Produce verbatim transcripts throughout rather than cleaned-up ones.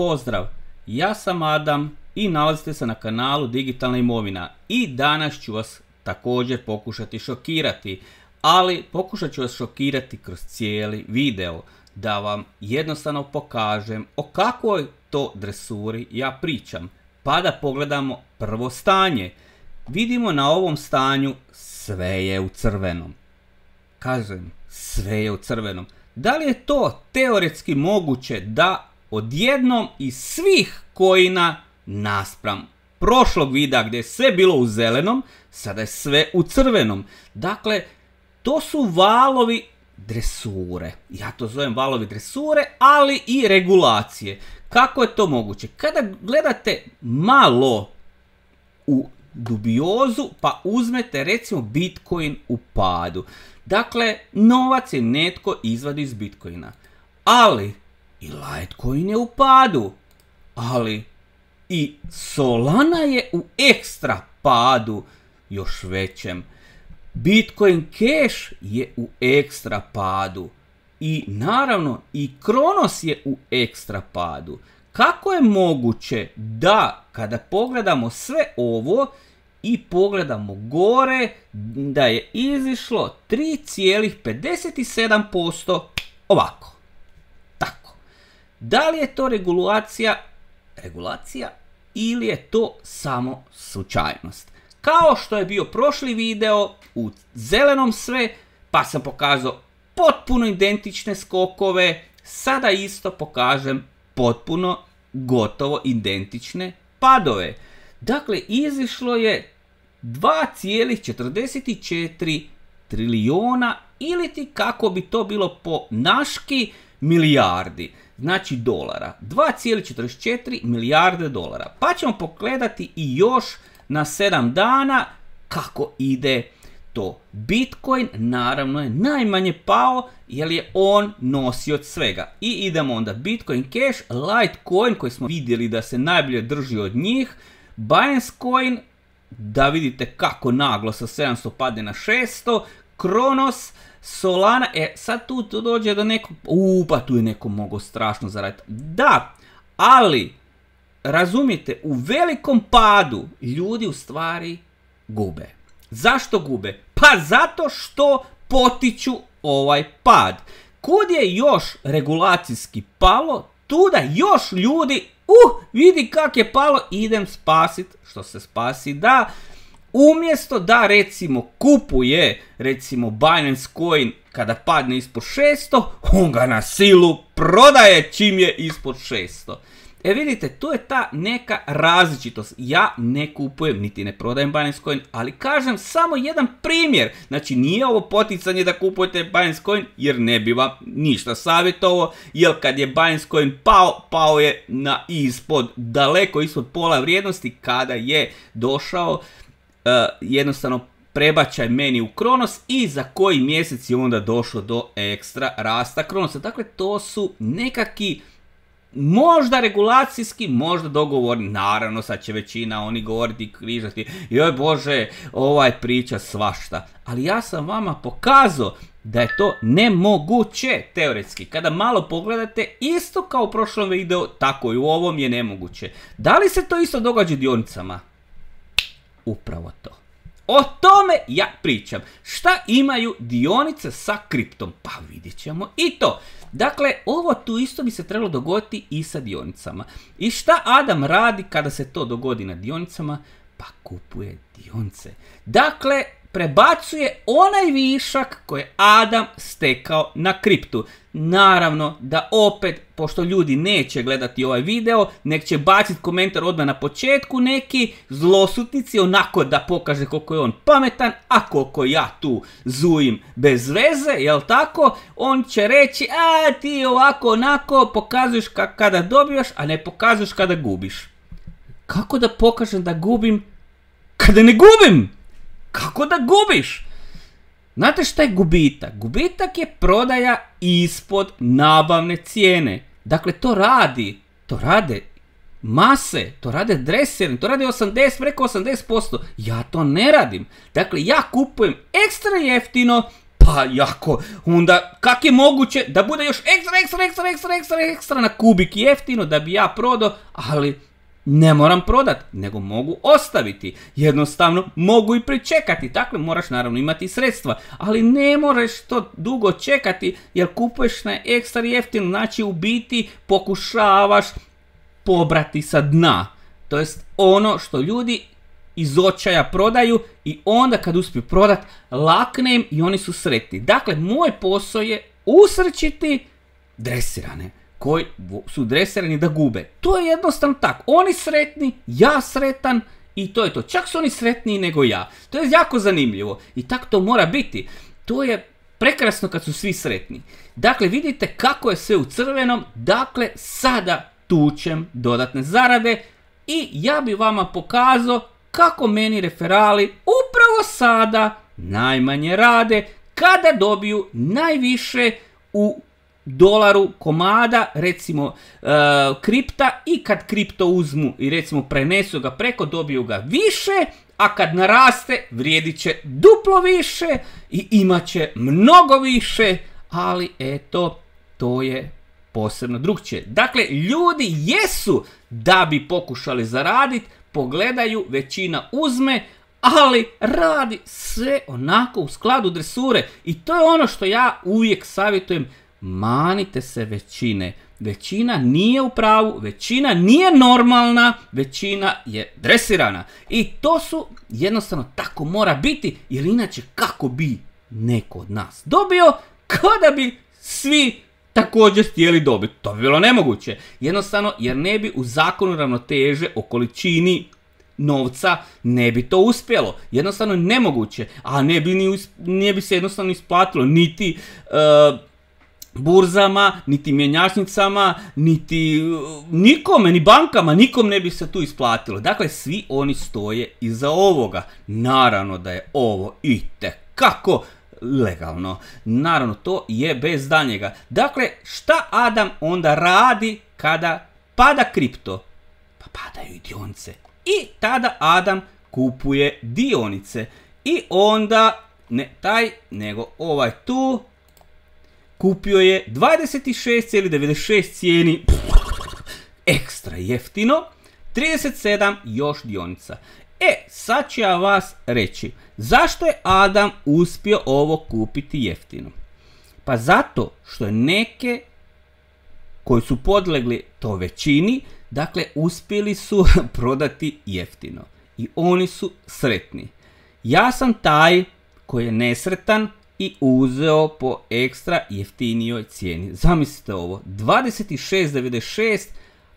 pozdrav, ja sam Adam i nalazite se na kanalu Digitalna imovina i danas ću vas također pokušati šokirati, ali pokušat ću vas šokirati kroz cijeli video, da vam jednostavno pokažem o kakvoj to dresuri ja pričam. Pa da pogledamo prvo stanje. Vidimo na ovom stanju sve je u crvenom. Kažem, sve je u crvenom. Da li je to teoretski moguće da odjednom iz svih coina naspram prošlog videa gdje je sve bilo u zelenom, sada je sve u crvenom. Dakle, to su valovi dresure. Ja to zovem valovi dresure, ali i regulacije. Kako je to moguće? Kada gledate malo u dubiozu pa uzmete recimo Bitcoin u padu. Dakle, novac je netko izvadi iz Bitcoina. Ali i Litecoin je u padu. Ali i Solana je u ekstra padu još većem. Bitcoin Cash je u ekstra padu. I naravno i Kronos je u ekstra padu. Kako je moguće da kada pogledamo sve ovo i pogledamo gore da je izišlo tri zarez pedeset sedam posto ovako. Tako. Da li je to regulacija, regulacija ili je to samo slučajnost? Kao što je bio prošli video u zelenom sve, pa sam pokazao potpuno identične skokove, sada isto pokažem potpuno gotovo identične padove. Dakle, izišlo je dva zarez četrdeset četiri trilijuna ili ti kako bi to bilo po naški milijardi, znači dolara. dva zarez četrdeset četiri milijarde dolara. Pa ćemo pogledati i još na sedam dana kako ide to. Bitcoin naravno je najmanje pao jer je on nosio od svega. I idemo onda Bitcoin Cash, Litecoin koji smo vidjeli da se najbolje drži od njih, Binance Coin, da vidite kako naglo sa sedamsto padne na šesto, Kronos, Solana, e sad tu, tu dođe do nekog, uuu pa tu je neko mogao strašno zaraditi. Da, ali razumijete, u velikom padu ljudi u stvari gube. Zašto gube? Pa zato što potiču ovaj pad. Kud je još regulacijski palo, tuda još ljudi, uh, vidi kak je palo, idem spasit, što se spasi da, umjesto da recimo kupuje recimo Binance Coin kada padne ispod šesto, on ga na silu prodaje čim je ispod šesto. E vidite, tu je ta neka različitost. Ja ne kupujem, niti ne prodajem Binance Coin, ali kažem samo jedan primjer. Znači nije ovo poticanje da kupujete Binance Coin, jer ne bi vam ništa savjetovao, jer kad je Binance Coin pao, pao je na ispod, daleko ispod pola vrijednosti kada je došao uh, jednostavno prebačaj meni u Kronos i za koji mjesec je onda došlo do ekstra rasta Kronosa. Dakle, to su nekakvi možda regulacijski, možda dogovorni, naravno sad će većina oni govoriti i križati, joj bože, ovaj priča svašta, ali ja sam vama pokazao da je to nemoguće teoretski. Kada malo pogledate, isto kao u prošlom videu, tako i u ovom je nemoguće. Da li se to isto događa dionicama? Upravo to. O tome ja pričam. Šta imaju dionice sa kriptom? Pa vidjet ćemo i to. Dakle, ovo tu isto bi se trebalo dogoditi i sa dionicama. I šta Adam radi kada se to dogodi na dionicama? Pa kupuje dionice. Dakle, prebacuje onaj višak koji je Adam stekao na kriptu. Naravno da opet, pošto ljudi neće gledati ovaj video, nek će baciti komentar odmah na početku, neki zlosutnici onako da pokaže koliko je on pametan, a koliko ja tu zujim bez veze, jel tako? On će reći, a ti ovako onako pokazuješ kada dobivaš, a ne pokazuješ kada gubiš. Kako da pokažem da gubim kada ne gubim? Kako da gubiš? Znate šta je gubitak? Gubitak je prodaja ispod nabavne cijene. Dakle, to radi, to rade mase, to rade dreseri, to rade osamdeset, preko osamdeset posto. Ja to ne radim. Dakle, ja kupujem ekstra jeftino, pa Pa jako, onda kak je moguće da bude još ekstra, ekstra, ekstra, ekstra, ekstra, ekstra na kubik jeftino da bi ja prodao, ali ne moram prodat, nego mogu ostaviti. Jednostavno mogu i pričekati, dakle moraš naravno imati sredstva, ali ne moraš to dugo čekati jer kupuješ na ekstra jeftino, znači u biti pokušavaš pobrati sa dna. To jest ono što ljudi iz očaja prodaju i onda kad uspiju prodat, lakne im i oni su sretni. Dakle, moj posao je usrećiti dresirane koji su dresirani da gube. To je jednostavno tako. Oni sretni, ja sretan i to je to. Čak su oni sretniji nego ja. To je jako zanimljivo i tako to mora biti. To je prekrasno kad su svi sretni. Dakle, vidite kako je sve u crvenom. Dakle, sada tučem dodatne zarade i ja bi vama pokazao kako meni referali upravo sada najmanje rade kada dobiju najviše u dolaru komada, recimo e, kripta, i kad kripto uzmu i recimo prenesu ga preko, dobiju ga više, a kad naraste vrijedit će duplo više i imat će mnogo više, ali eto, to je posebno drugčije. Dakle, ljudi jesu da bi pokušali zaraditi, pogledaju, većina uzme, ali radi sve onako u skladu dresure. I to je ono što ja uvijek savjetujem, manite se većine. Većina nije u pravu, većina nije normalna, većina je dresirana. I to su jednostavno tako mora biti, jer inače kako bi neko od nas dobio kada bi svi također htjeli dobiti. To bi bilo nemoguće. Jednostavno jer ne bi u zakonu ravnoteže o količini novca ne bi to uspjelo. Jednostavno nemoguće. A ne bi, ni, ne bi se jednostavno isplatilo niti uh, burzama, niti mjenjačnicama, niti uh, nikome, ni bankama, nikom ne bi se tu isplatilo. Dakle, svi oni stoje iza ovoga. Naravno da je ovo itekako legalno. Naravno, to je bez daljnjega. Dakle, šta Adam onda radi kada pada kripto? Pa padaju i dionice. I tada Adam kupuje dionice. I onda, ne taj, nego ovaj tu, kupio je dvadeset šest zarez devedeset šest cijeni, ekstra jeftino, trideset sedam još dionica. E, sad ću ja vas reći, zašto je Adam uspio ovo kupiti jeftino? Pa zato što je neke koji su podlegli to većini, dakle uspjeli su prodati jeftino. I oni su sretni. Ja sam taj koji je nesretan i uzeo po ekstra jeftinijoj cijeni. Zamislite ovo, dvadeset šest zarez devedeset šest,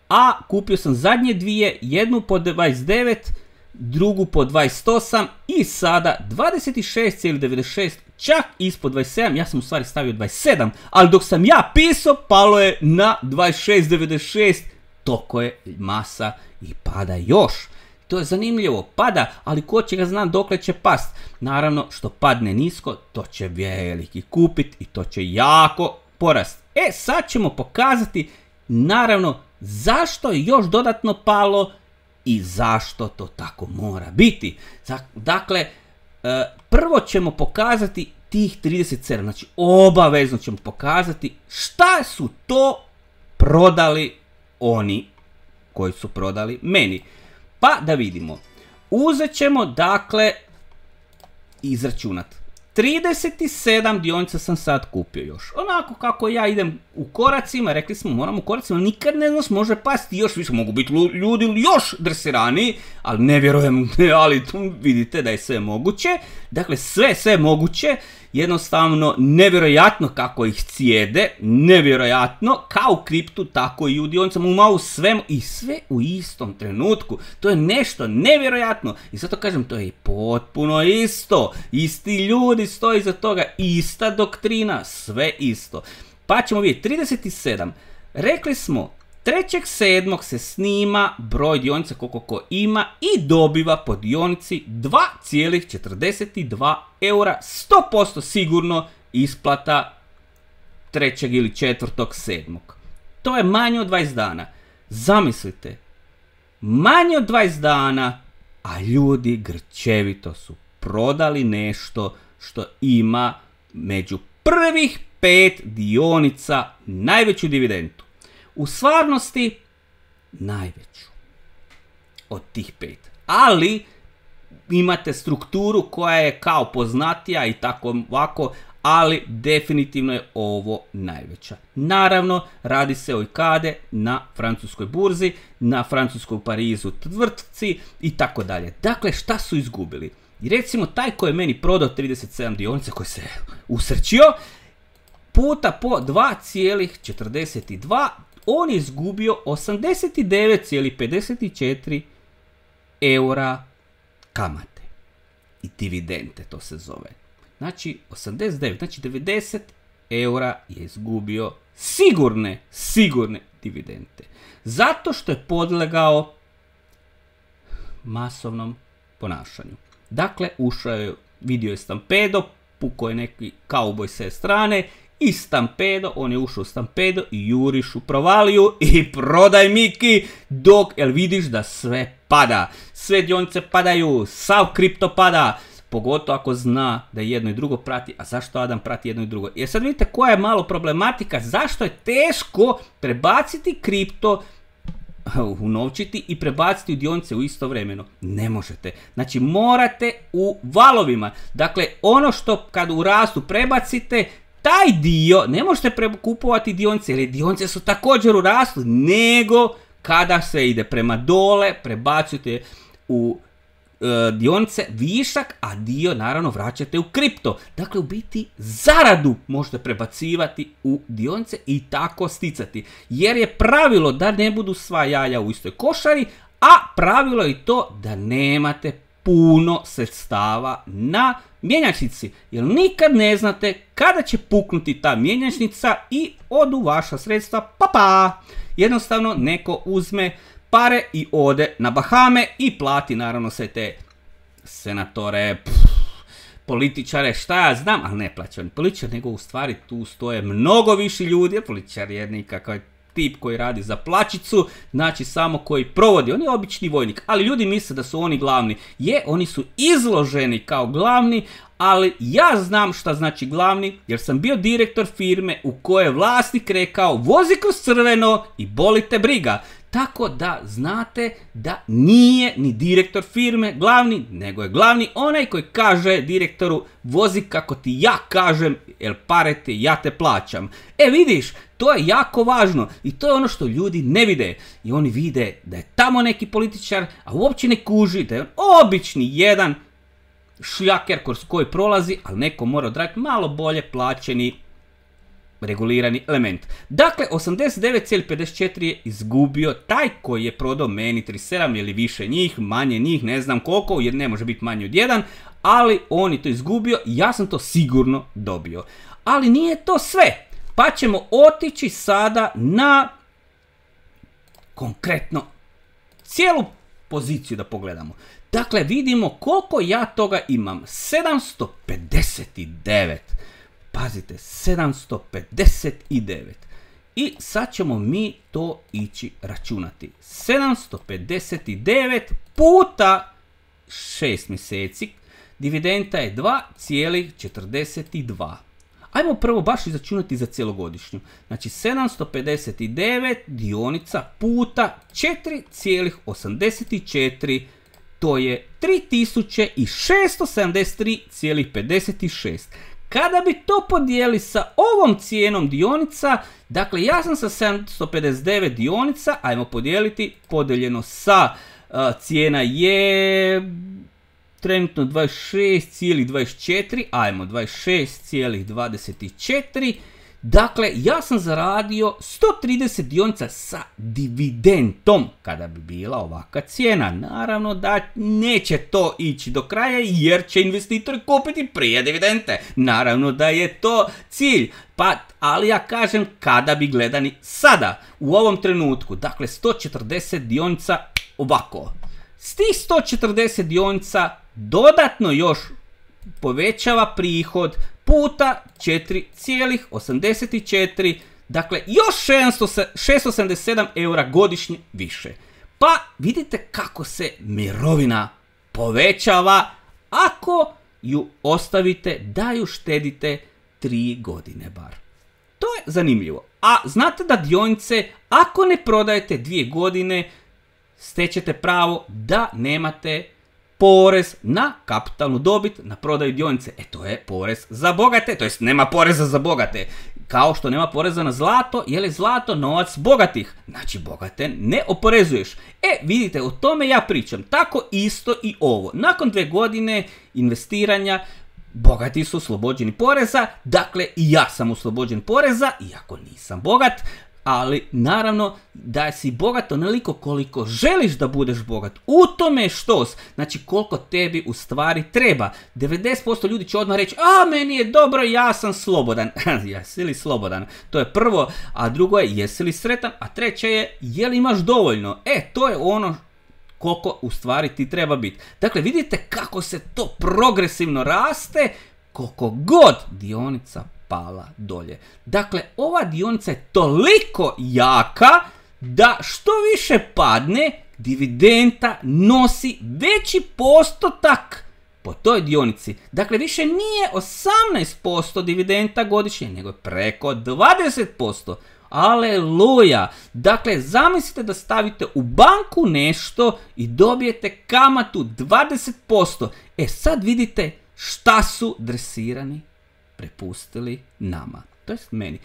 a kupio sam zadnje dvije, jednu po dvadeset devet, drugu po dvadeset osam i sada dvadeset šest zarez devedeset šest, čak ispod dvadeset sedam, ja sam u stvari stavio dvadeset sedam, ali dok sam ja pisao palo je na dvadeset šest zarez devedeset šest, toko je masa i pada još. To je zanimljivo, pada, ali ko će ga znam dokle će past. Naravno, što padne nisko, to će veliki kupit i to će jako porast. E, sad ćemo pokazati, naravno, zašto je još dodatno palo i zašto to tako mora biti. Dakle, prvo ćemo pokazati tih trideset sedam, znači obavezno ćemo pokazati šta su to prodali oni koji su prodali meni. Pa da vidimo. Uzet ćemo, dakle, izračunat. trideset sedam dionica sam sad kupio još. Onako kako ja idem u koracima, rekli smo moram u koracima, nikad ne znaš, može pasti još više, mogu biti ljudi još dresiraniji, ali ne vjerujem, ali tu vidite da je sve moguće. Dakle, sve, sve moguće, jednostavno nevjerojatno kako ih cijede, nevjerojatno, kao u kriptu, tako i u dionicama, u malu svemu i sve u istom trenutku. To je nešto nevjerojatno i zato kažem, to je potpuno isto, isti ljudi stoji iza toga, ista doktrina, sve isto. Pa ćemo vidjeti, trideset sedam, rekli smo, trećeg sedmog se snima broj dionica koliko ko ima i dobiva po dionici dva zarez četrdeset dva eura, sto posto sigurno isplata trećeg ili četvrtog sedmog. To je manje od dvadeset dana. Zamislite, manje od dvadeset dana, a ljudi grčevito su prodali nešto što ima među prvih pet dionica najveću dividendu. U stvarnosti najveću od tih pet. Ali imate strukturu koja je kao poznatija i tako ovako, ali definitivno je ovo najveća. Naravno, radi se o ikade na francuskoj burzi, na francuskoj Parizu tvrtci i tako dalje. Dakle, šta su izgubili? I recimo, taj koji je meni prodao trideset sedam dionica, koji se usrećio, puta po dva zarez četrdeset dva, on je izgubio osamdeset devet zarez pedeset četiri eura kamate i dividende, to se zove. Znači osamdeset devet, znači devedeset eura je izgubio sigurne, sigurne dividende. Zato što je podlegao masovnom ponašanju. Dakle, ušao je, vidio je stampedo, pukao je neki kauboj s strane i stampedo, on je ušao u stampedo i juriš u provaliju i prodaj Miki dok, jel vidiš da sve pada. Sve dionice padaju, sav kripto pada, pogotovo ako zna da jedno i drugo prati. A zašto Adam prati jedno i drugo? Jer sad vidite koja je malo problematika, zašto je teško prebaciti kripto, unovčiti i prebaciti u dionice u isto vremeno. Ne možete. Znači morate u valovima. Dakle, ono što kad u rastu prebacite, taj dio ne možete kupovati dionice, jer dionice su također u rastu, nego kada se ide prema dole, prebacujete u e, dionice višak, a dio naravno vraćate u kripto. Dakle, u biti zaradu možete prebacivati u dionice i tako sticati. Jer je pravilo da ne budu sva jaja u istoj košari, a pravilo je i to da nemate puno sredstava na mjenjačnici, jer nikad ne znate kada će puknuti ta mjenjačnica i odu vaša sredstva, pa pa. Jednostavno neko uzme pare i ode na Bahame i plati naravno sve te senatore, pff, političare, šta ja znam, ali ne plaća oni političar, nego u stvari tu stoje mnogo više ljudi, jer političar je nikakav tip koji radi za plaćicu, znači samo koji provodi, on je obični vojnik, ali ljudi misle da su oni glavni. Je, oni su izloženi kao glavni, ali ja znam šta znači glavni, jer sam bio direktor firme u kojoj je vlasnik rekao vozi kroz crveno i boli te briga. Tako da znate da nije ni direktor firme glavni, nego je glavni onaj koji kaže direktoru vozi kako ti ja kažem, jer pare te ja te plaćam. E vidiš, to je jako važno i to je ono što ljudi ne vide. I oni vide da je tamo neki političar, a uopće ne kuži da je on obični jedan šljaker kroz koji prolazi, ali neko mora odraditi malo bolje plaćeni regulirani element. Dakle, osamdeset devet zarez pedeset četiri je izgubio taj koji je prodao meni trideset sedam ili više njih, manje njih, ne znam koliko, jer ne može biti manje od jedan, ali on je to izgubio i ja sam to sigurno dobio. Ali nije to sve, pa ćemo otići sada na konkretno cijelu poziciju da pogledamo. Dakle, vidimo koliko ja toga imam, sedamsto pedeset devet. Pazite, sedamsto pedeset devet. I sad ćemo mi to ići računati. sedamsto pedeset devet puta šest mjeseci. Dividenda je dva zarez četrdeset dva. Ajmo prvo baš izračunati za cijelogodišnju. Znači sedamsto pedeset devet dionica puta četiri zarez osamdeset četiri. To je tri tisuće šesto sedamdeset tri zarez pedeset šest. Kada bi to podijeli sa ovom cijenom dionica, dakle ja sam sa sedamsto pedeset devet dionica, ajmo podijeliti, podijeljeno sa uh, cijena je trenutno dvadeset šest zarez dvadeset četiri, ajmo dvadeset šest zarez dvadeset četiri. Dakle, ja sam zaradio sto trideset dionica sa dividendom, kada bi bila ovakva cijena. Naravno da neće to ići do kraja jer će investitori kupiti prije dividende. Naravno da je to cilj. Pa, ali ja kažem kada bi gledani sada, u ovom trenutku. Dakle, sto četrdeset dionica ovako. S tih sto četrdeset dionica dodatno još povećava prihod puta četiri zarez osamdeset četiri, dakle još šesto sedamdeset sedam eura godišnje više. Pa vidite kako se mirovina povećava ako ju ostavite da ju štedite tri godine bar. To je zanimljivo. A znate da dionice, ako ne prodajete dvije godine, stećete pravo da nemate porez na kapitalnu dobit na prodaju dionice. E to je porez za bogate, to jest nema poreza za bogate. Kao što nema poreza na zlato, jer je zlato novac bogatih. Znači bogate ne oporezuješ. E vidite, o tome ja pričam. Tako isto i ovo. Nakon dve godine investiranja, bogati su oslobođeni poreza, dakle i ja sam oslobođen poreza, iako nisam bogat, ali naravno da si bogat onoliko koliko želiš da budeš bogat. U tome je štos, znači koliko tebi u stvari treba. devedeset posto ljudi će odmah reći, a meni je dobro, ja sam slobodan. Jesi li slobodan? To je prvo, a drugo je jesi li sretan, a treće je je li imaš dovoljno. E, to je ono koliko u stvari ti treba biti. Dakle, vidite kako se to progresivno raste, koliko god dionica pala dolje. Dakle, ova dionica je toliko jaka da što više padne, dividenda nosi veći postotak po toj dionici. Dakle, više nije osamnaest posto dividenda godišnje, nego je preko dvadeset posto. Aleluja! Dakle, zamislite da stavite u banku nešto i dobijete kamatu dvadeset posto. E sad vidite šta su dresirani prepustili nama, to jest meni.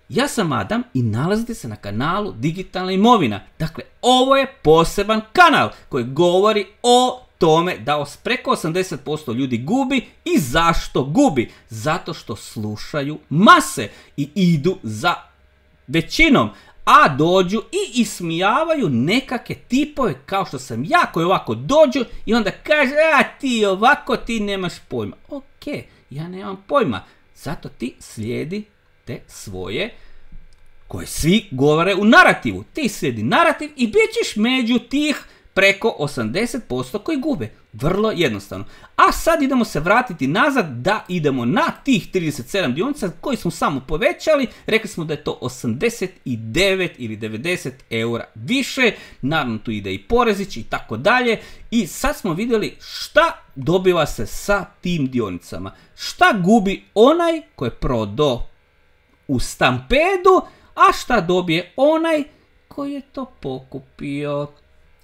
Ja sam Adam i nalazite se na kanalu Digitalna imovina. Dakle, ovo je poseban kanal koji govori o tome da preko osamdeset posto ljudi gubi. I zašto gubi? Zato što slušaju mase i idu za većinom, a dođu i ismijavaju nekakve tipove kao što sam ja, koji ovako dođu i onda kaže, a ti ovako, ti nemaš pojma. Ok, ja nemam pojma, zato ti slijedi te svoje, koje svi govore u narativu. Ti slijedi narativ i bit ćeš među tih preko osamdeset posto koji gube. Vrlo jednostavno. A sad idemo se vratiti nazad da idemo na tih trideset sedam dionica koji smo samo povećali. Rekli smo da je to osamdeset devet ili devedeset eura više. Naravno tu ide i porezić i tako dalje. I sad smo vidjeli šta dobiva se sa tim dionicama. Šta gubi onaj koji je prodao u stampedu, a šta dobije onaj koji je to pokupio.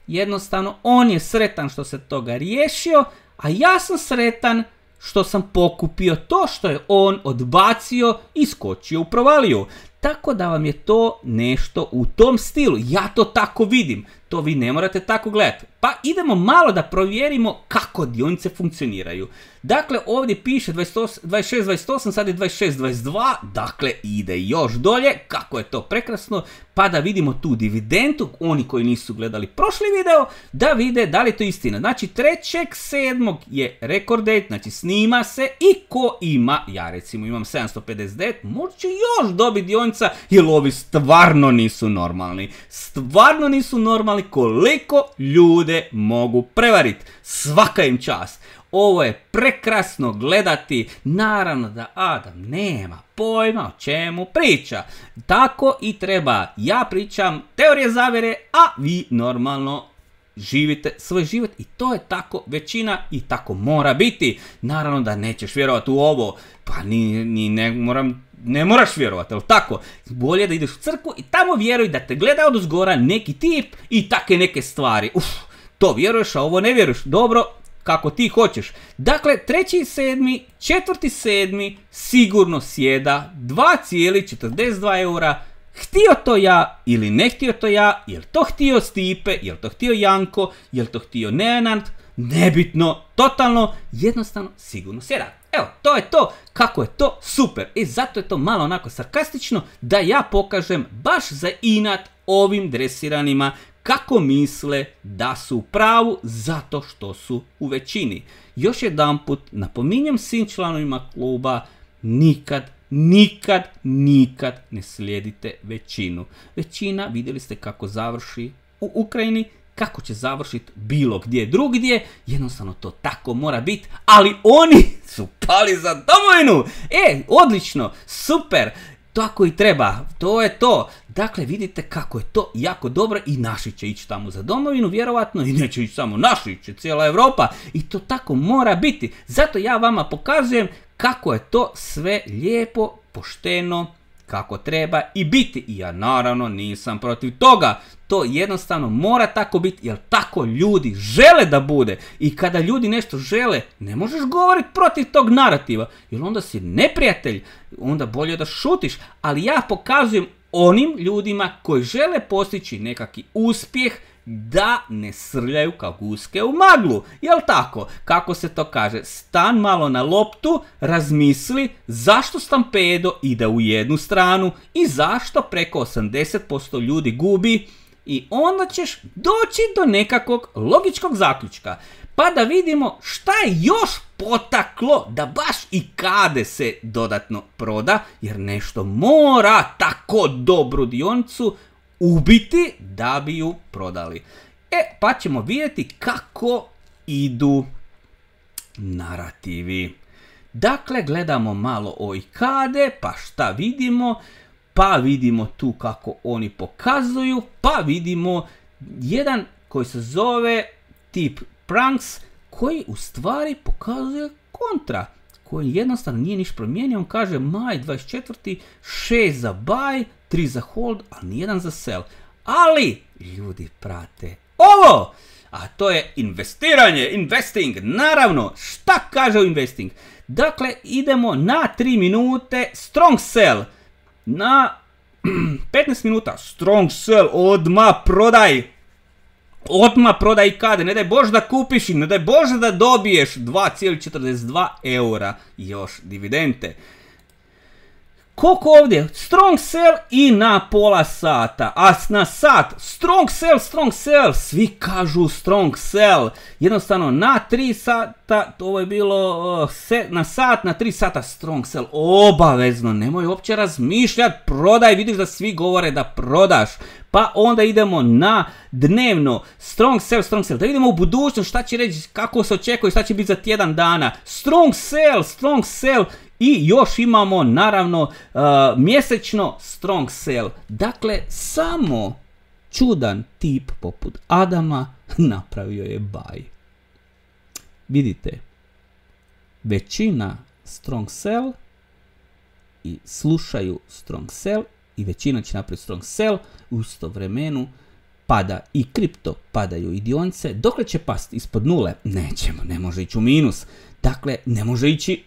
Jednostavno, on je sretan što se toga riješio, a ja sam sretan što sam pokupio to što je on odbacio i skočio u provaliju. Tako da vam je to nešto u tom stilu. Ja to tako vidim. To vi ne morate tako gledati. Pa idemo malo da provjerimo kako dionice funkcioniraju. Dakle, ovdje piše dvadeset šest dvadeset osam, sad je dvadeset šest dvadeset dva. Dakle, ide još dolje. Kako je to prekrasno. Pa da vidimo tu dividendu. Oni koji nisu gledali prošli video, da vide da li je to istina. Znači, trećeg sedmog je record date. Znači, snima se i ko ima, ja recimo imam sedamsto pedeset devet, možda će još dobiti dionica, jer ovi stvarno nisu normalni. Stvarno nisu normalni koliko ljude mogu prevariti. Svaka im čast. Ovo je prekrasno gledati. Naravno da Adam nema pojma o čemu priča. Tako i treba. Ja pričam teorije zavjere, a vi normalno živite svoj život i to je tako većina i tako mora biti. Naravno da nećeš vjerovati u ovo. Pa ni, ni ne moram... Ne moraš vjerovati, ali tako? Bolje da ideš u crkvu i tamo vjeruj da te gleda odozgora neki tip i take neke stvari. Uf, to vjeruješ, a ovo ne vjeruješ. Dobro, kako ti hoćeš. Dakle, treći sedmi, četvrti sedmi sigurno sjeda dva zarez četrdeset dva eura. Htio to ja ili ne htio to ja, jel to htio Stipe, jel to htio Janko, jel to htio Nenad, nebitno, totalno, jednostavno, sigurno sjeda. Evo, to je to, kako je to super. I zato je to malo onako sarkastično da ja pokažem baš za inat ovim dresiranima kako misle da su u pravu zato što su u većini. Još jedanput napominjem svim članovima kluba, nikad, nikad, nikad ne slijedite većinu. Većina, vidjeli ste kako završi u Ukrajini, kako će završiti bilo gdje drugdje, jednostavno to tako mora biti, ali oni su pali za domovinu. E, odlično, super, tako i treba, to je to. Dakle, vidite kako je to jako dobro i naši će ići tamo za domovinu, vjerovatno, i neće ići samo naši, ići će cijela Europa i to tako mora biti. Zato ja vama pokazujem kako je to sve lijepo, pošteno, kako treba i biti. I ja naravno nisam protiv toga. To jednostavno mora tako biti, jer tako ljudi žele da bude. I kada ljudi nešto žele, ne možeš govoriti protiv tog narativa, jer onda si neprijatelj, onda bolje da šutiš. Ali ja pokazujem onim ljudima koji žele postići nekakvi uspjeh da ne srljaju kao guske u maglu. Jel tako? Kako se to kaže? Stan malo na loptu, razmisli zašto stampedo ide u jednu stranu i zašto preko osamdeset posto ljudi gubi i onda ćeš doći do nekakvog logičkog zaključka. Pa da vidimo šta je još potaklo da baš i Kade se dodatno proda, jer nešto mora tako dobru dionicu ubiti da bi ju prodali. E, pa ćemo vidjeti kako idu narativi. Dakle, gledamo malo o Kade, pa šta vidimo? Pa vidimo tu kako oni pokazuju, pa vidimo jedan koji se zove tip Pranks, koji u stvari pokazuje kontra, koji jednostavno nije niš promijenio. On kaže maj dvadeset četvrti šest za buy, tri za hold, a nijedan za sell. Ali ljudi prate ovo, a to je investiranje, investing. Naravno, šta kaže o investing? Dakle, idemo na tri minute, strong sell. Na petnaest minuta, strong sell, odmah prodaj. Odmah prodaj Kade, ne daj Bože da kupiš i ne daj Bože da dobiješ dva zarez četrdeset dva eura još dividende. Koliko ovdje? Strong sell i na pola sata, a na sat strong sell, strong sell, svi kažu strong sell. Jednostavno na tri sata, ovo je bilo uh, se, na sat, na tri sata strong sell, obavezno, nemoj uopće razmišljati, prodaj, vidiš da svi govore da prodaš. Pa onda idemo na dnevno, strong sell, strong sell, da vidimo u budućnost šta će reći, kako se očekuje, šta će biti za tjedan dana. Strong sell, strong sell. I još imamo naravno uh, mjesečno strong sell. Dakle, samo čudan tip poput Adama napravio je buy. Vidite, većina strong sell i slušaju strong sell i većina će napraviti strong sell. U isto vremenu pada i kripto, padaju i dionice. Dokle će pasti ispod nule? Nećemo, ne može ići u minus. Dakle, ne može ići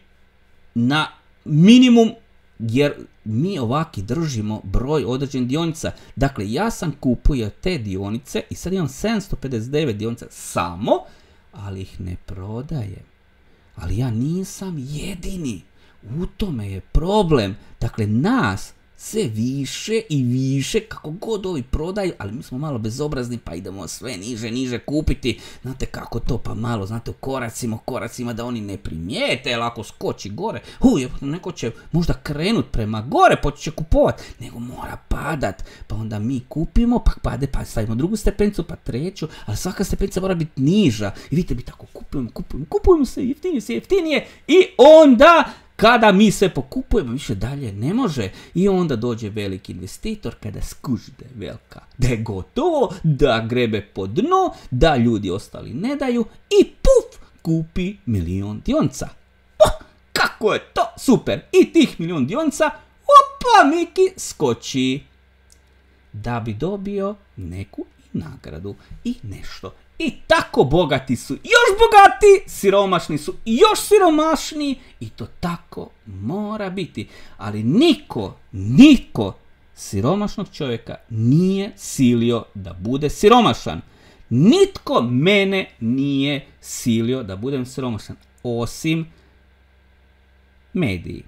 na minimum, jer mi ovaki držimo broj određenih dionica. Dakle, ja sam kupio te dionice i sad imam sedamsto pedeset devet dionica samo, ali ih ne prodajem. Ali ja nisam jedini. U tome je problem. Dakle, nas sve više i više, kako god ovi prodaju, ali mi smo malo bezobrazni pa idemo sve niže, niže kupiti. Znate kako to, pa malo, znate, u koracima, koracima da oni ne primijete, jer ako skoči gore, uj, neko će možda krenut prema gore, počet će kupovat, nego mora padat, pa onda mi kupimo, pa pade, pa stavimo drugu stepencu, pa treću, ali svaka stepenca mora biti niža. I vidite, mi tako kupujemo, kupujemo, kupujemo se, jeftinije se, jeftinije, i onda kada mi sve pokupujemo, više dalje ne može. I onda dođe veliki investitor kada skuži da je velika, da je gotovo, da grebe po dnu, da ljudi ostali ne daju i puf, kupi milion dionica. Oh, kako je to super! I tih milion dionica, opa, Miki skoči. Da bi dobio neku nagradu i nešto. I tako bogati su još bogati, siromašni su još siromašniji i to tako mora biti. Ali niko, niko siromašnog čovjeka nije silio da bude siromašan. Nitko mene nije silio da budem siromašan, osim mediji.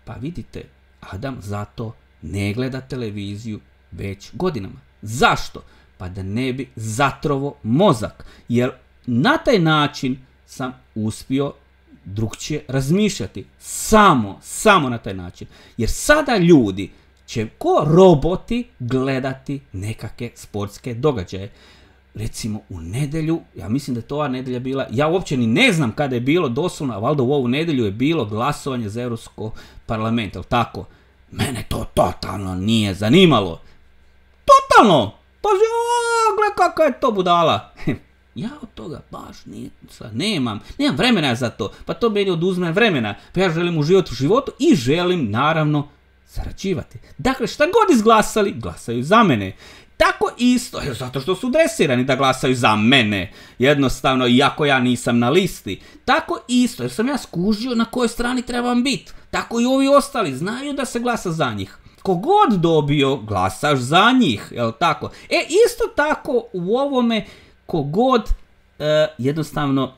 Pa vidite, Adam zato ne gleda televiziju već godinama. Zašto? Pa da ne bi zatrovo mozak, jer na taj način sam uspio drugčije razmišljati. Samo, samo na taj način. Jer sada ljudi će ko roboti gledati nekakve sportske događaje. Recimo u nedjelju, ja mislim da je to ova nedjelja bila, ja uopće ni ne znam kada je bilo, doslovno, a valjda u ovu nedjelju je bilo glasovanje za Europsko parlament, ali tako? Mene to totalno nije zanimalo. Totalno! Pazi, o, gle kakva je to budala. Ja od toga baš nije, nemam, nemam vremena za to. Pa to meni oduzme vremena. Pa ja želim uživati u životu i želim, naravno, zarađivati. Dakle, šta god izglasali, glasaju za mene. Tako isto, zato što su dresirani da glasaju za mene. Jednostavno, iako ja nisam na listi. Tako isto, jer sam ja skužio na kojoj strani trebam biti. Tako i ovi ostali znaju da se glasa za njih. Kogod dobio, glasaš za njih, jel tako? E, isto tako u ovome, kogod e, jednostavno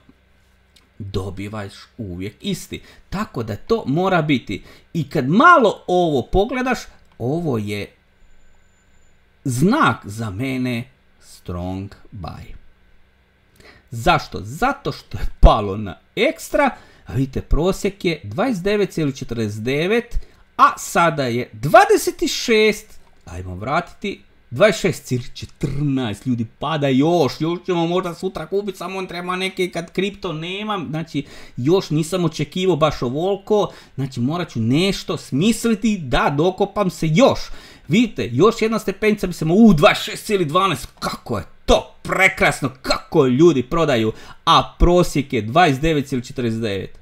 dobivaš uvijek isti. Tako da to mora biti. I kad malo ovo pogledaš, ovo je znak za mene strong buy. Zašto? Zato što je palo na ekstra, a vidite prosjek je dvadeset devet zarez četrdeset devet, a sada je dvadeset šest, ajmo vratiti, dvadeset šest zarez četrnaest, ljudi pada još, još ćemo možda sutra kupiti, samo on treba neke kad kripto nemam, znači još nisam očekivao baš ovoliko, znači morat ću nešto smisliti da dokopam se još. Vidite, još jedna stepenica bi se mo, u dvadeset šest zarez dvanaest, kako je to prekrasno, kako ljudi prodaju, a prosjek je dvadeset devet zarez četrdeset devet.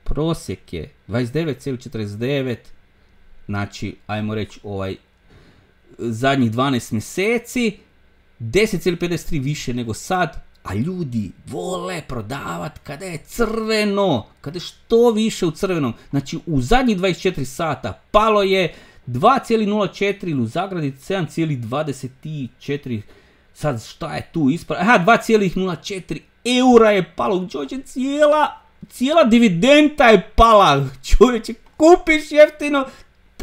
Prosjek je dvadeset devet zarez četrdeset devet, znači, ajmo reći, ovaj, zadnjih dvanaest mjeseci, deset zarez pedeset tri više nego sad, a ljudi vole prodavat kada je crveno, kada je što više u crvenom. Znači, u zadnjih dvadeset četiri sata palo je dva zarez nula četiri ili u zagradi sedam zarez dvadeset četiri, sad šta je tu ispred, aha, dva zarez nula četiri eura je palo, čovječe, cijela, cijela dividenda je pala, čovječe, kupiš jeftino,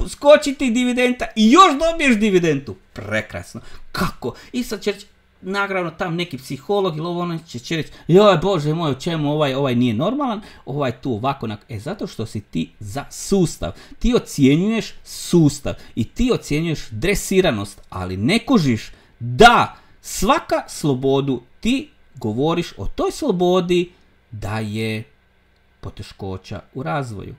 skoči ti dividenda i još dobiješ dividendu, prekrasno, kako, i sad će reći, naravno tam neki psiholog ili ovo ono će, će reći, joj bože moj, čemu ovaj, ovaj nije normalan, ovaj tu ovako, e zato što si ti za sustav, ti ocjenjuješ sustav i ti ocjenjuješ dresiranost, ali ne kužiš da svaka slobodu ti govoriš o toj slobodi da je poteškoća u razvoju.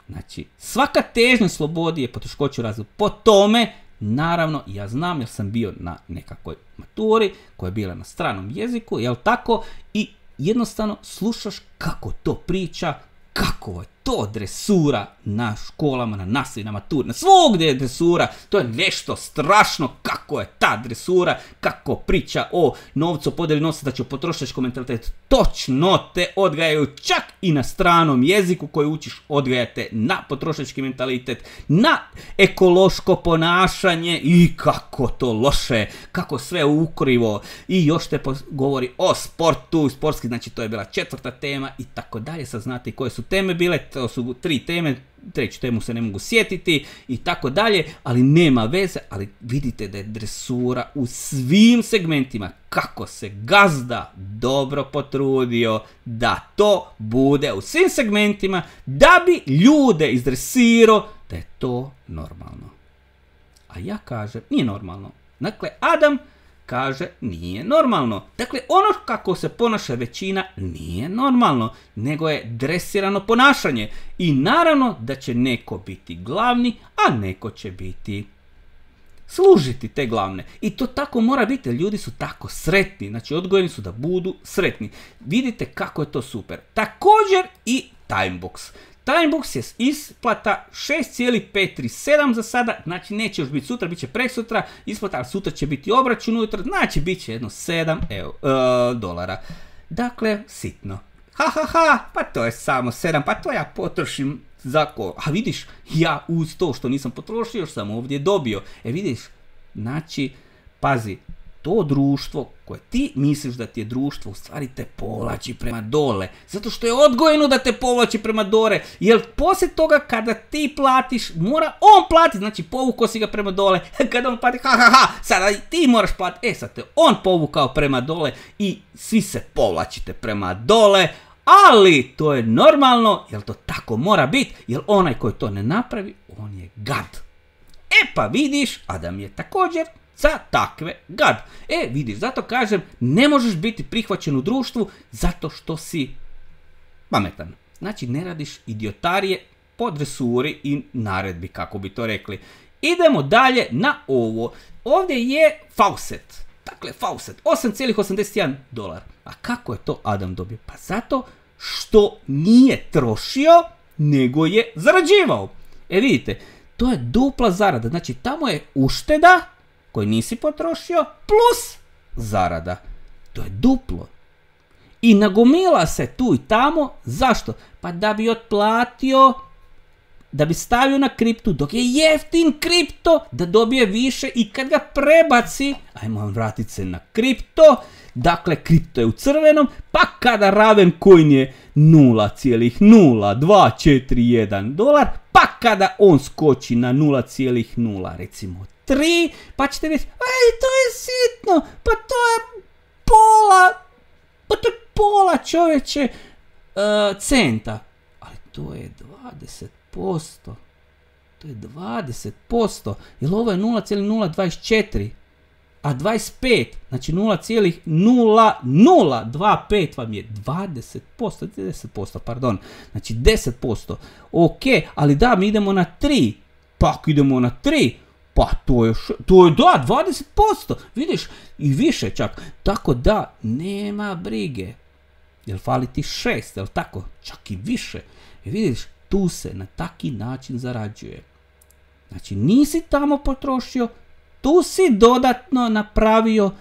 Znači, svaka težnja slobodi je poteškoća u razvoju. Po tome, naravno, ja znam jer sam bio na nekakvoj maturi koja je bila na stranom jeziku, jel tako? I jednostavno slušaš kako to priča, kako je to dresura na školama, na nastavi, na maturi, na svugdje je dresura, to je nešto strašno kako je ta dresura, kako priča o novcu, podjeli novca, da će potrošačkom mentalitetu, točno te odgajaju čak i na stranom jeziku koji učiš, odgajate na potrošački mentalitet, na ekološko ponašanje i kako to loše, kako sve ukrivo i još te govori o sportu, sportski, znači to je bila četvrta tema i tako dalje, sad znate koje su teme bile, to su tri teme, treću temu se ne mogu sjetiti i tako dalje, ali nema veze, ali vidite da je dresura u svim segmentima, kako se gazda dobro potrudio da to bude u svim segmentima, da bi ljude izdresirao da je to normalno. A ja kažem, nije normalno. Dakle, Adam kaže nije normalno. Dakle, ono kako se ponaša većina nije normalno, nego je dresirano ponašanje. I naravno da će neko biti glavni, a neko će biti služiti te glavne. I to tako mora biti, ljudi su tako sretni, znači odgojeni su da budu sretni. Vidite kako je to super. Također i Timebox. Timebox je isplata šest zarez petsto trideset sedam za sada, znači neće još biti sutra, bit će preksutra, isplata, ali sutra će biti obračun ujutro, znači bit će jedno sedam dolara. Dakle, sitno. Ha ha ha, pa to je samo sedam, pa to ja potrošim za ko. A vidiš, ja uz to što nisam potrošio, još sam ovdje dobio. E vidiš, znači, pazi, to društvo koje ti misliš da ti je društvo, u stvari te povlači prema dole. Zato što je odgojeno da te povlači prema dole. Jer poslije toga kada ti platiš, mora on platiti. Znači povukao si ga prema dole. Kada on plati, ha ha ha, sada ti moraš platiti. E sad te on povukao prema dole i svi se povlačite prema dole. Ali to je normalno, jer to tako mora biti. Jer onaj koji to ne napravi, on je gad. E pa vidiš, Adam je također za takve gad. E, vidiš, zato kažem, ne možeš biti prihvaćen u društvu zato što si pametan. Znači, ne radiš idiotarije po dresuri i naredbi, kako bi to rekli. Idemo dalje na ovo. Ovdje je Fawcett. Dakle, Fawcett, osam zarez osamdeset jedan dolar. A kako je to Adam dobio? Pa zato što nije trošio, nego je zarađivao. E vidite, to je dupla zarada. Znači, tamo je ušteda koju nisi potrošio plus zarada. To je duplo. I nagomila se tu i tamo. Zašto? Pa da bi otplatio, da bi stavio na kriptu, dok je jeftin kripto, da dobije više i kad ga prebaci, ajmo vratiti se na kripto, dakle kripto je u crvenom, pa kada Ravencoin je nula zarez nula dva četiri jedan dolar, pa kada on skoči na nula zarez nula recimo tri, pa ćete reći, aj to je sitno, pa to je pola, pa to je pola čovječe uh, centa, ali to je dvadeset posto. To je dvadeset posto. Jer ovo je nula zarez nula dvadeset četiri. A dvadeset pet. Znači nula zarez nula nula dvadeset pet vam je dvadeset posto. deset posto, pardon. Znači deset posto. Ok, ali da, mi idemo na tri. Pak idemo na tri. Pa to je, to je da, dvadeset posto. Vidiš, i više čak. Tako da, nema brige. Jel fali ti šest, jel tako? Čak i više. I vidiš, tu se na taki način zarađuje. Znači nisi tamo potrošio, tu si dodatno napravio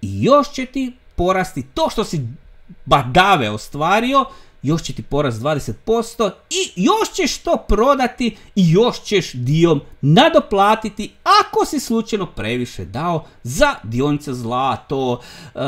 i još će ti porasti to što si badave ostvario, još će ti porast dvadeset posto i još ćeš to prodati i još ćeš dio nadoplatiti ako si slučajno previše dao za dionice zlato, e,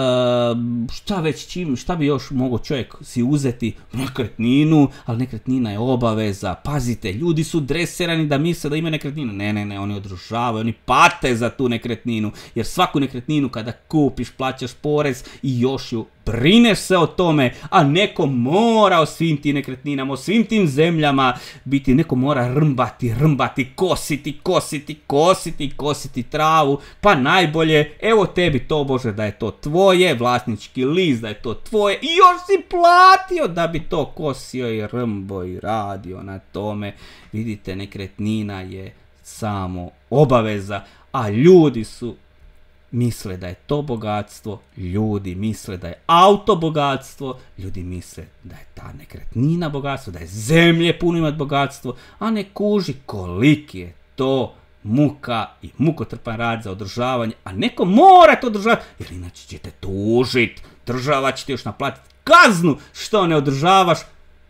šta već čim, šta bi još mogao čovjek si uzeti, nekretninu, ali nekretnina je obaveza, pazite, ljudi su dresirani da misle da imaju nekretninu, ne, ne, ne, oni održavaju, oni pate za tu nekretninu, jer svaku nekretninu kada kupiš plaćaš porez i još ju brineš se o tome, a neko mora o svim tim nekretninama, o svim tim zemljama biti, neko mora rmbati, rmbati, kositi, kositi, kositi, kositi travu, pa najbolje, evo tebi to Bože da je to tvoje, vlasnički list da je to tvoje i još si platio da bi to kosio i rmbo i radio na tome. Vidite, nekretnina je samo obaveza, a ljudi su misle da je to bogatstvo, ljudi misle da je auto bogatstvo, ljudi misle da je ta nekretnina bogatstvo, da je zemlje puno imat bogatstvo, a ne kuži koliki je to muka i mukotrpan rad za održavanje, a neko mora to održavati, jer inače ćete tužit, država će ti još naplatiti kaznu što ne održavaš,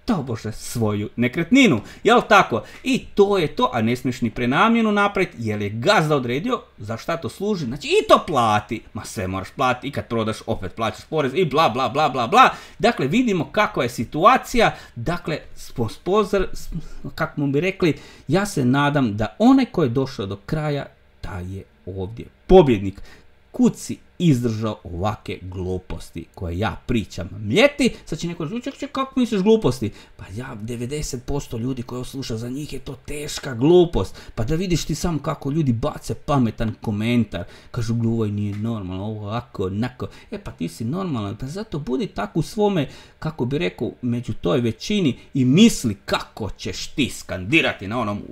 to Bože, svoju nekretninu, jel tako? I to je to, a ne smiješ ni prenamjenu napraviti, jer je gazda odredio za šta to služi, znači i to plati, ma sve moraš platiti i kad prodaš opet plaćaš porez i bla bla bla bla bla. Dakle, vidimo kakva je situacija, dakle, spozor, kako mu bi rekli, ja se nadam da onaj ko je došao do kraja, da je ovdje pobjednik. Kud si izdržao ovake gluposti koje ja pričam mljeti, sad će neko reći, ček, ček, kako misliš gluposti? Pa ja, devedeset posto ljudi koji ovo sluša, za njih je to teška glupost. Pa da vidiš ti sam kako ljudi bace pametan komentar, kažu gluvaj nije normalno, ovo ovako, onako. E pa ti si normalan, pa zato budi tako u svome, kako bi rekao, među toj većini i misli kako ćeš ti skandirati na onom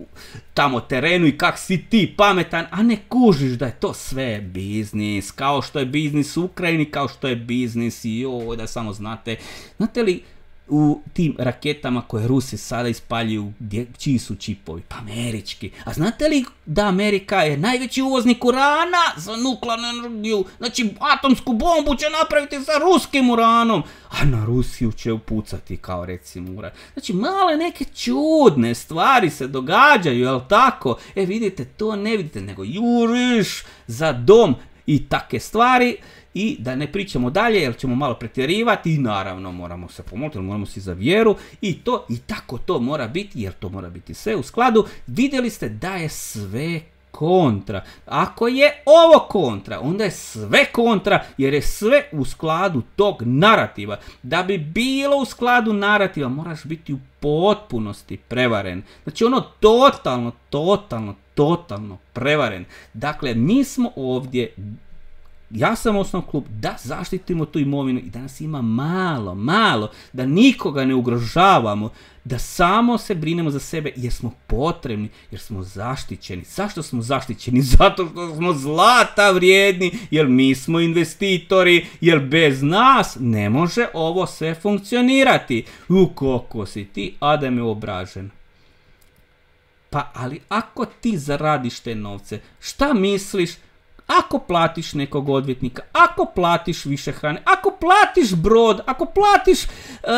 tamo terenu i kak si ti pametan, a ne kužiš da je to sve biznis, kao što je biznis u Ukrajini, kao što je biznis i ovo, da samo znate. Znate li u tim raketama koje Rusi sada ispaljuju, gdje, čiji su čipovi? Pa američki. A znate li da Amerika je najveći uvoznik urana za nuklearnu energiju? Znači atomsku bombu će napraviti sa ruskim uranom, a na Rusiju će upucati kao recimo uran. Znači male neke čudne stvari se događaju, jel tako? E vidite, to ne vidite, nego juriš za dom i take stvari. I da ne pričamo dalje jer ćemo malo pretjerivati i naravno moramo se pomoliti, moramo si za vjeru i to i tako to mora biti jer to mora biti sve u skladu. Vidjeli ste da je sve kontra. Ako je ovo kontra, onda je sve kontra jer je sve u skladu tog narativa. Da bi bilo u skladu narativa moraš biti u potpunosti prevaren. Znači ono totalno, totalno, totalno prevaren. Dakle, mi smo ovdje ja sam osnovao klub da zaštitimo tu imovinu i da nas ima malo, malo, da nikoga ne ugrožavamo, da samo se brinemo za sebe jer smo potrebni, jer smo zaštićeni. Zašto smo zaštićeni? Zato što smo zlata vrijedni, jer mi smo investitori, jer bez nas ne može ovo sve funkcionirati. U koliko si ti, Adame, obražen. Pa ali ako ti zaradiš te novce, šta misliš? Ako platiš nekog odvjetnika, ako platiš više hrane, ako platiš brod, ako platiš e,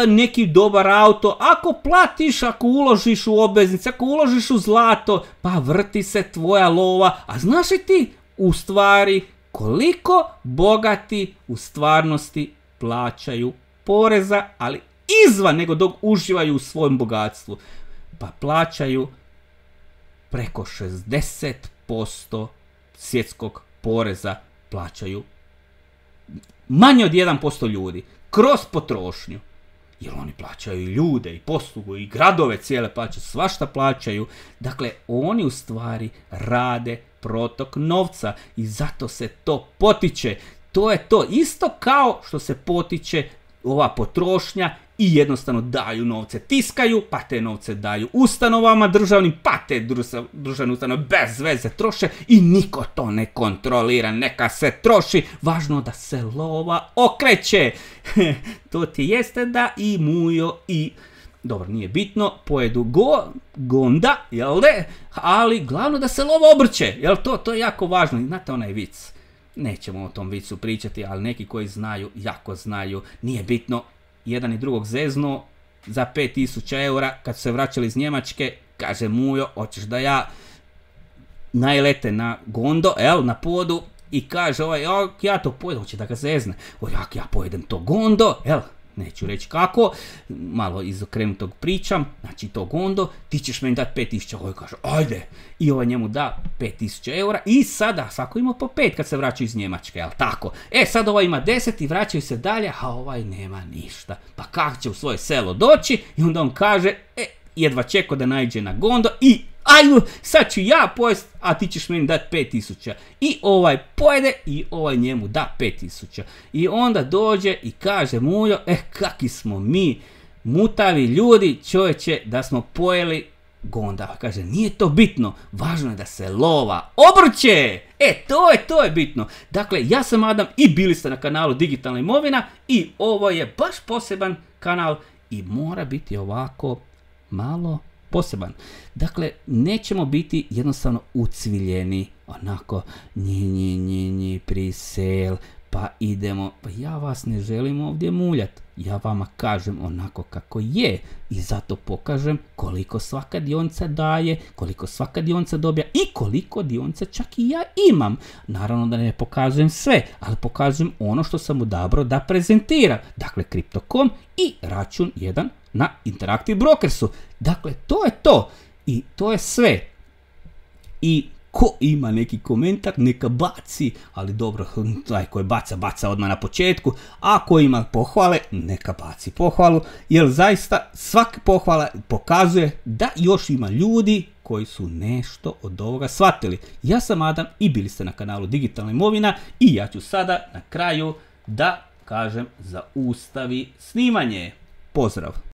neki dobar auto, ako platiš, ako uložiš u obveznice, ako uložiš u zlato, pa vrti se tvoja lova. A znaš li ti u stvari koliko bogati u stvarnosti plaćaju poreza, ali izvan nego dok uživaju u svojem bogatstvu? Pa plaćaju preko šezdeset posto svjetskog poreza plaćaju manje od jedan posto ljudi kroz potrošnju. Jer oni plaćaju i ljude, i poslugu, i gradove cijele plaćaju, svašta plaćaju. Dakle, oni u stvari rade protok novca i zato se to potiče. To je to isto kao što se potiče ova potrošnja i jednostavno daju novce, tiskaju, pa te novce daju ustanovama državnim, pa te državne ustanove bez veze troše i niko to ne kontrolira, neka se troši, važno da se lova okreće. To ti jeste da i Mujo i, dobro, nije bitno, pojedu go, gonda, jel de, ali glavno da se lova obrće, jel to, to je jako važno. Znate onaj vic, nećemo o tom vicu pričati, ali neki koji znaju, jako znaju, nije bitno. Jedan i drugog zezno za pet tisuća eura kad su se vraćali iz Njemačke, kaže Mujo, hoćeš da ja najlete na gondo, el, na podu, i kaže ovaj, ja to pojedem, hoće da ga zezne, o, jak ja pojedem to gondo, el, neću reći kako, malo izokrenutog pričam, znači to gondo, ti ćeš meni dati pet tisuća, ovaj kaže, ajde, i ovaj njemu da pet tisuća eura i sada svako ima po pet kad se vraćaju iz Njemačke, jel tako? E, sad ovaj ima deset i vraćaju se dalje, a ovaj nema ništa, pa kako će u svoje selo doći? I onda on kaže, e, jedva čekao da naiđe na gondo i ajmo, sad ću ja pojest, a ti ćeš meni dati pet tisuća. I ovaj pojede i ovaj njemu da pet tisuća. I onda dođe i kaže Mujo, eh, kakvi smo mi mutavi ljudi, čovječe, da smo pojeli gonda. Kaže, nije to bitno, važno je da se lova obrće. E, to je, to je bitno. Dakle, ja sam Adam i bili ste na kanalu Digitalna imovina i ovo je baš poseban kanal i mora biti ovako malo poseban. Dakle, nećemo biti jednostavno ucviljeni, onako, nji, nji, nji, nji, prisel, pa idemo, pa ja vas ne želim ovdje muljati, ja vama kažem onako kako je i zato pokažem koliko svaka dionica daje, koliko svaka dionica dobija i koliko dionica čak i ja imam. Naravno da ne pokazujem sve, ali pokazujem ono što sam odabrao da prezentiram. Dakle, Crypto punkt com i račun jedan na Interactive Brokersu. Dakle, to je to i to je sve. I ko ima neki komentar, neka baci, ali dobro, taj koji baca, baca odmah na početku, a ko ima pohvale, neka baci pohvalu, jer zaista svaka pohvala pokazuje da još ima ljudi koji su nešto od ovoga shvatili. Ja sam Adam i bili ste na kanalu Digitalna imovina i ja ću sada na kraju da kažem zaustavi snimanje. Pozdrav!